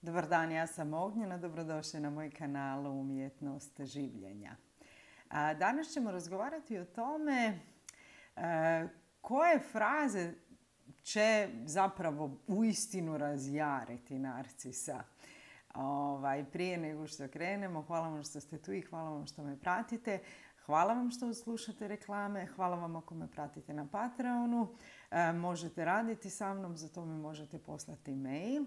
Dobar dan, ja sam Ognjena, dobrodošli na moj kanal Umjetnost življenja. Danas ćemo razgovarati o tome koje fraze će zapravo uistinu razjariti narcisa. Prije nego što krenemo, hvala vam što ste tu i hvala vam što me pratite. Hvala vam što slušate reklame, hvala vam ako me pratite na Patreonu. Možete raditi sa mnom, za to mi možete poslati mail.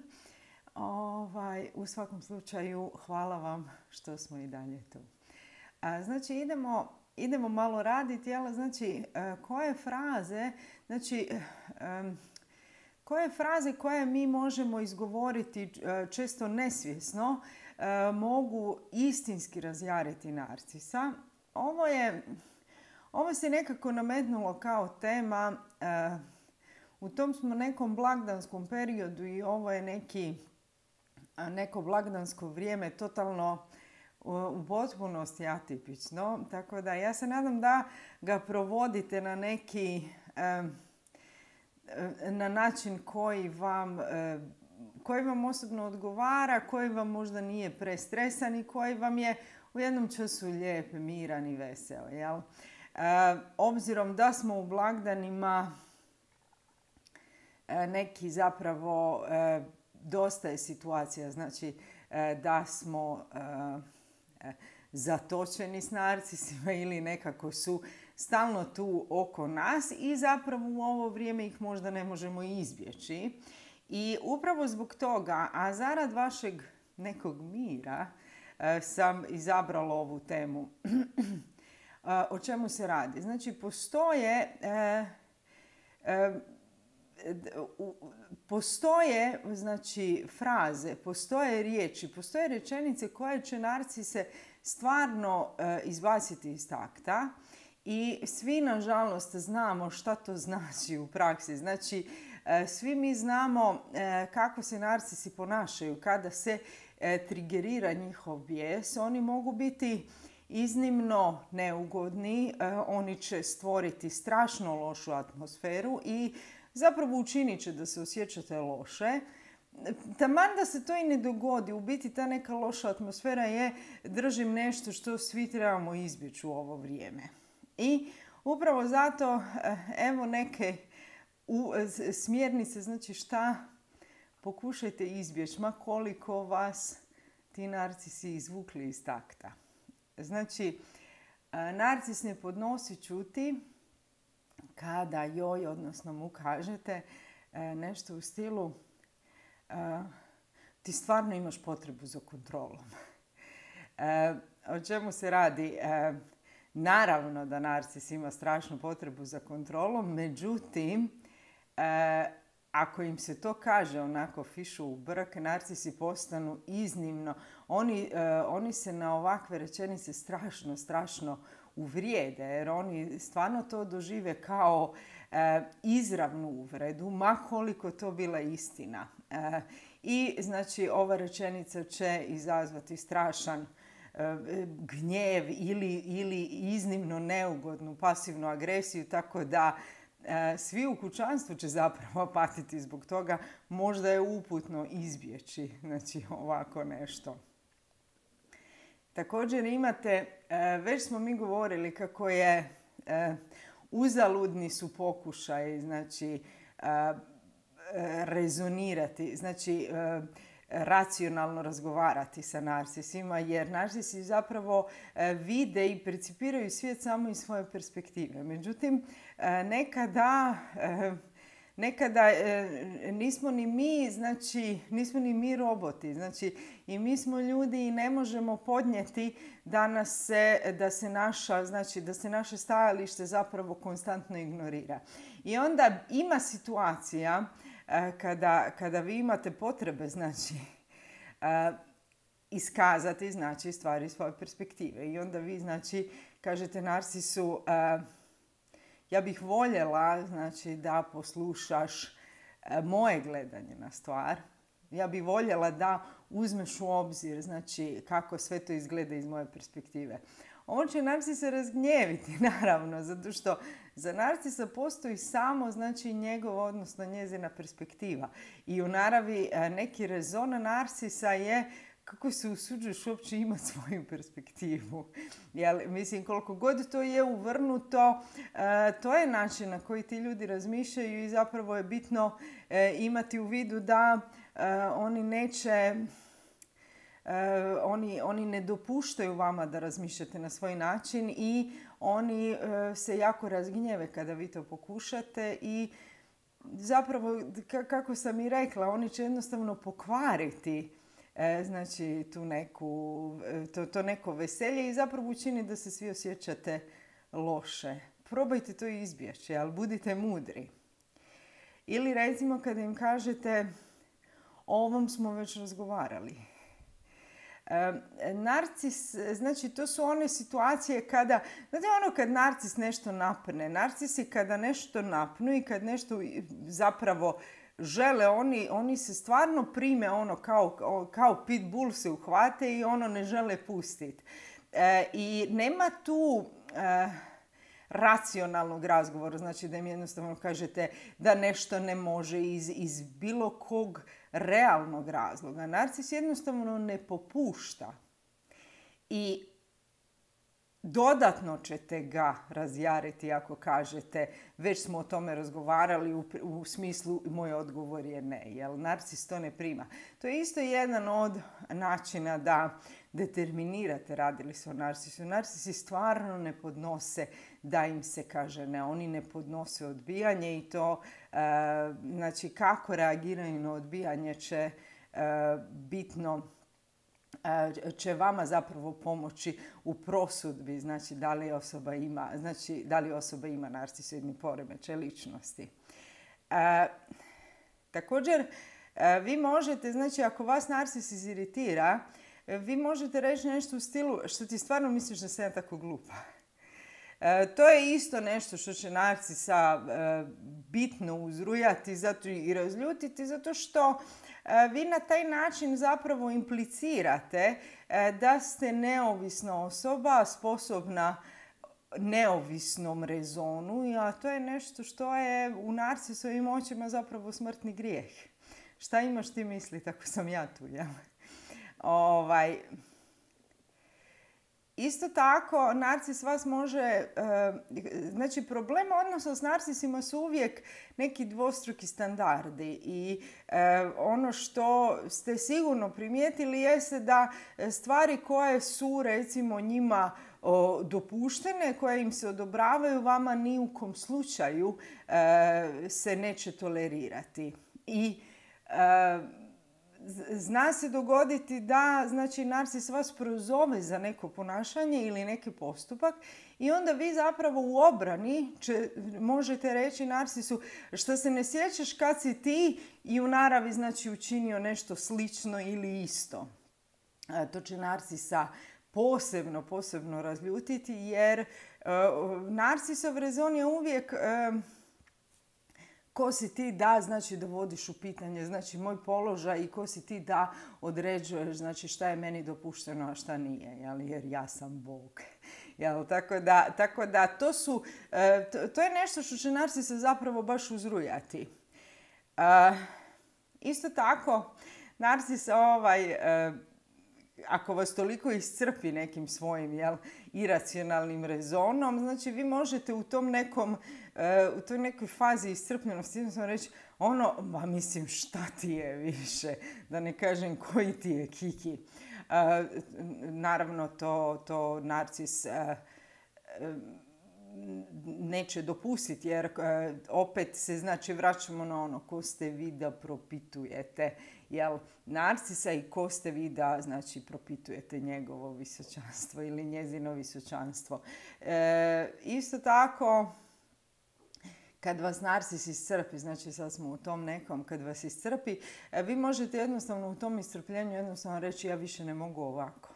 U svakom slučaju, hvala vam što smo i dalje tu. Znači, idemo malo raditi, ali znači, koje fraze koje mi možemo izgovoriti često nesvjesno mogu istinski razjariti narcisa. Ovo se nekako nametnulo kao tema. U tom smo nekom blagdanskom periodu i ovo je neko blagdansko vrijeme totalno u potpunosti atipično. Tako da ja se nadam da ga provodite na način koji vam osobno odgovara, koji vam možda nije prestresan i koji vam je u jednom času lijep, miran i vesel. Jel? Obzirom da smo u blagdanima, neki zapravo dosta je situacija, znači da smo zatočeni s narcisima ili nekako su stalno tu oko nas i zapravo u ovo vrijeme ih možda ne možemo izbjeći. I upravo zbog toga, a zarad vašeg nekog mira, sam izabrala ovu temu. O čemu se radi? Znači, postoje fraze, postoje riječi, postoje rečenice koje će narcise stvarno izbaciti iz takta i svi nažalost znamo šta to znači u praksi. Znači, svi mi znamo kako se narcisi ponašaju kada se trigerira njihov bijes. Oni mogu biti iznimno neugodni, oni će stvoriti strašno lošu atmosferu i zapravo učinit će da se osjećate loše. Taman da se to i ne dogodi, u biti ta neka loša atmosfera je, držim, nešto što svi trebamo izbjeći u ovo vrijeme. I upravo zato, evo neke smjernice, znači šta pokušajte izbjeći, ma koliko vas ti narcisi izvukli iz takta. Znači, narcis ne podnosi čuti kada joj, odnosno mu kažete nešto u stilu ti stvarno imaš potrebu za kontrolom. O čemu se radi? Naravno da narcis ima strašnu potrebu za kontrolom, međutim, ako im se to kaže onako fišu u brk, narcisi postanu iznimno. Oni se na ovakve rečenice strašno uvrijede, jer oni stvarno to dožive kao izravnu uvredu, ma koliko to bila istina. I znači ova rečenica će izazvati strašan gnjev ili iznimno neugodnu pasivnu agresiju, tako da svi u kućanstvu će zapravo patiti zbog toga. Možda je uputno izbjeći ovako nešto. Također imate, već smo mi govorili kako je uzaludni su pokušaj rezonirati, racionalno razgovarati sa narcisima, jer narcisi zapravo vide i percipiraju svijet samo iz svoje perspektive. Međutim, nekada nismo ni mi roboti, i mi smo ljudi i ne možemo podnijeti da se naše stajalište zapravo konstantno ignorira. I onda ima situacija kada vi imate potrebe iskazati stvari iz svoje perspektive. I onda vi kažete narcisu ja bih voljela da poslušaš moje gledanje na stvar. Ja bih voljela da uzmeš u obzir kako sve to izgleda iz moje perspektive. on će narcisa razgnjeviti, naravno, zato što za narcisa postoji samo, znači, njegov, odnosno njezina perspektiva. I u naravi neki rezon narcisa je kako se usuđuješ uopće imati svoju perspektivu. Jel, mislim, koliko god to je uvrnuto, to je način na koji ti ljudi razmišljaju i zapravo je bitno imati u vidu da oni neće... Oni ne dopuštaju vama da razmišljate na svoj način i oni se jako razgnjeve kada vi to pokušate i zapravo, kako sam i rekla, oni će jednostavno pokvariti znači to neko veselje i zapravo učini da se svi osjećate loše. Probajte to izbjeći, ali budite mudri. Ili recimo kada im kažete o ovom smo već razgovarali. Narcis, znači to su one situacije kada, znate ono kad narcis nešto napne, narcisi kada nešto napnu i kad nešto zapravo žele, oni se stvarno prime ono kao pitbull se uhvate i ono ne žele pustiti. I nema tu racionalnog razgovora, znači da im jednostavno kažete da nešto ne može iz bilo kog realnog razloga. Narcis jednostavno ne popušta i dodatno ćete ga razjariti ako kažete već smo o tome razgovarali u smislu moj odgovor je ne, jer narcis to ne prima. To je isto jedan od načina da determinirate radi li se o narcisu. Narcisi stvarno ne podnose da im se kaže ne. Oni ne podnose odbijanje i to znači kako reagiraju na odbijanje će bitno će vama zapravo pomoći u prosudbi, znači da li osoba ima narcisoidni poremećaj ličnosti. Također, vi možete, znači ako vas narcis iziritira, vi možete reći nešto u stilu što ti stvarno misliš da sam ja tako glupa. To je isto nešto što će narcisa bitno uzrujati i razljutiti zato što vi na taj način zapravo implicirate da ste neovisna osoba, sposobna neovisnom rezonu, a to je nešto što je u narcisovim očima zapravo smrtni grijeh. Šta imaš ti misli, tako sam ja tu, ja? Isto tako, narcis vas može... Znači, problem odnosa s narcisima su uvijek neki dvostruki standardi i ono što ste sigurno primijetili jeste da stvari koje su, recimo, njima dopuštene, koje im se odobravaju, vama ni u kom slučaju se neće tolerirati. I... zna se dogoditi da, znači, narcis vas prozove za neko ponašanje ili neki postupak i onda vi zapravo u obrani možete reći narcisu što se ne sjećaš kad si ti i u naravi, znači, učinio nešto slično ili isto. To će narcisa posebno razljutiti jer narcisov rezon je uvijek... Ko si ti da, znači, dovodiš u pitanje, znači, moj položaj i ko si ti da određuješ, znači, šta je meni dopušteno, a šta nije, jer ja sam Bog. Tako da to je nešto što će narcisa zapravo baš uzrujati. Isto tako, narcis ako vas toliko iscrpi nekim svojim iracionalnim rezonom, znači vi možete u toj nekoj fazi iscrpljenosti jednostavno reći mislim šta ti je više, da ne kažem koji ti je kiki. Naravno to narcis neće dopustiti jer opet se, znači, vraćamo na ono ko ste vi da propitujete narcisa i ko ste vi da, znači, propitujete njegovo visočanstvo ili njezino visočanstvo. Isto tako, kad vas narcis iscrpi, znači sad smo u tom nekom, kad vas iscrpi, vi možete jednostavno u tom iscrpljenju jednostavno reći ja više ne mogu ovako.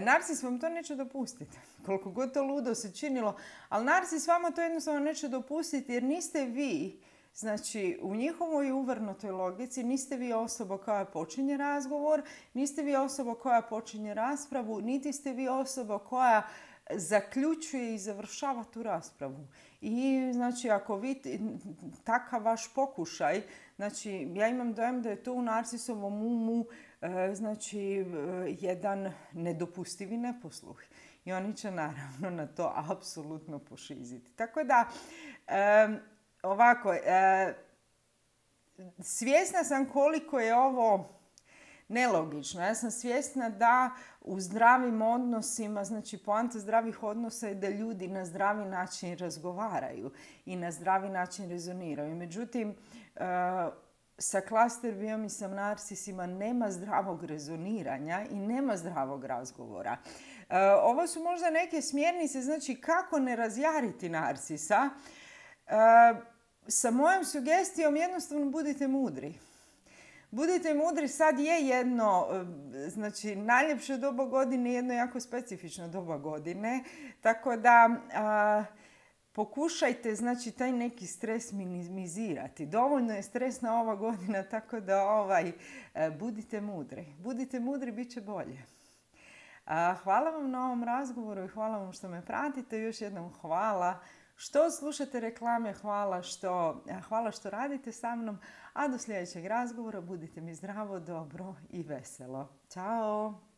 Narcis vam to neće dopustiti, koliko god to ludo se činilo, ali narcis vama to jednostavno neće dopustiti jer niste vi Znači, u njihovoj uvrnutoj logici niste vi osoba koja počinje razgovor, niste vi osoba koja počinje raspravu, niti ste vi osoba koja zaključuje i završava tu raspravu. I znači, ako vi takav vaš pokušaj, znači, ja imam dojam da je to u narcisovom umu znači, jedan nedopustivi neposluh. I oni će naravno na to apsolutno pošiziti. Tako da, ovako, svjesna sam koliko je ovo nelogično. Ja sam svjesna da u zdravim odnosima, znači poanta zdravih odnosa je da ljudi na zdravi način razgovaraju i na zdravi način rezoniraju. Međutim, sa klaster biom i sa narcisima nema zdravog rezoniranja i nema zdravog razgovora. Ovo su možda neke smjernice, znači kako ne razjariti narcisa. Sa mojom sugestijom jednostavno budite mudri. Budite mudri, sad je jedno, znači najljepše doba godine, jedno jako specifično doba godine, tako da pokušajte, znači, taj neki stres minimizirati. Dovoljno je stresna ova godina, tako da budite mudri. Budite mudri, bit će bolje. Hvala vam na ovom razgovoru i hvala vam što me pratite. Još jednom hvala što slušate reklame, hvala što radite sa mnom. A do sljedećeg razgovora budite mi zdravo, dobro i veselo. Ćao!